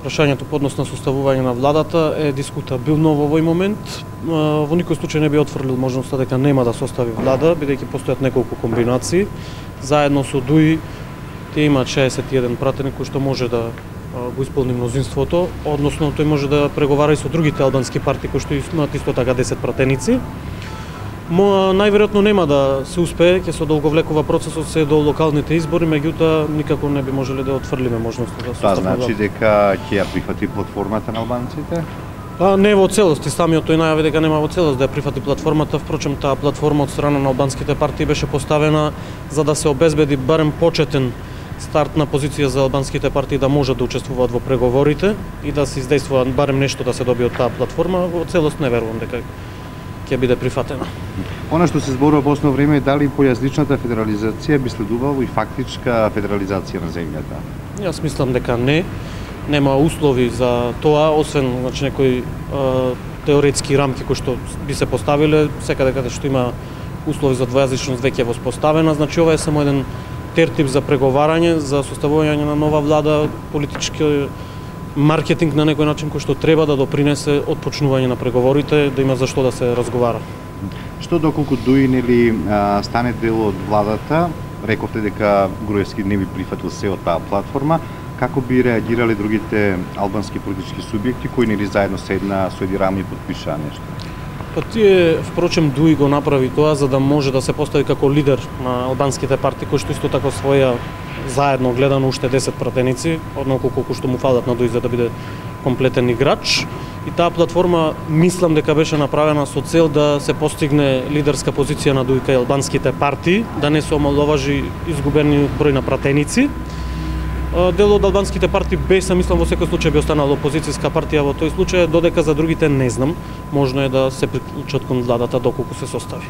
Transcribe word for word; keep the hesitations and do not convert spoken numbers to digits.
Прашањето по однос на составување на владата е дискутабилно во овој момент. Во никој случај не би отфрлил можноста дека нема да состави влада, бидејќи постојат неколку комбинации. Заедно со ДУИ те имаат шеесет и еден пратеник кој што може да го исполни мнозинството, односно тој може да преговара и со другите албански партии кои што имаат исто така десет пратеници. Мо најверојатно нема да се успее, ќе се одолговлекува процесот се до локалните избори, меѓутоа никако не би можеле да отфрлиме можноста да составиме. Тоа значи дека ќе ја прифати платформата на албанците? Па не во целост, самиот тој најави дека нема во целост да ја прифати платформата, впрочем таа платформа од страна на албанските партии беше поставена за да се обезбеди барем почетен стартна позиција за албанските партии да можат да учествуваат во преговорите и да се издействува барем нешто да се добие од таа платформа, во целост не верувам дека ќе биде прифатена. Она што се зборува во основно време е дали појасничната федерализација би следувала и фактичка федерализација на земјата? Јас мислам дека не. Нема услови за тоа, освен значи некои теоретски рамки кои што би се поставиле, секаде каде што има услови за двојазичност веќе е воспоставена, значи ова е само еден тертип за преговарање, за составување на нова влада, политички маркетинг на некој начин кој што треба да допринесе од почнување на преговорите, да има за што да се разговара. Што доколку ДУИ нели стане дел од владата, рековте дека Груевски не би прифатил се од таа платформа, како би реагирале другите албански политички субјекти кои нели заедно седна со еди рами и потпишаа нешто? Па тие, впрочем, ДУИ го направи тоа за да може да се постави како лидер на албанските партии, кои што исто така своја заедно гледано уште десет пратеници, однолку колку што му фалат на ДУИ за да биде комплетен играч. И таа платформа мислам дека беше направена со цел да се постигне лидерска позиција на ДУИ кај албанските партии, да не се омаловажи изгубени број на пратеници. Дел од албанските партии без, мислам, во секој случај би останала опозицијска партија во тој случај, додека за другите не знам, можно е да се приклучат кон владата доколку се состави.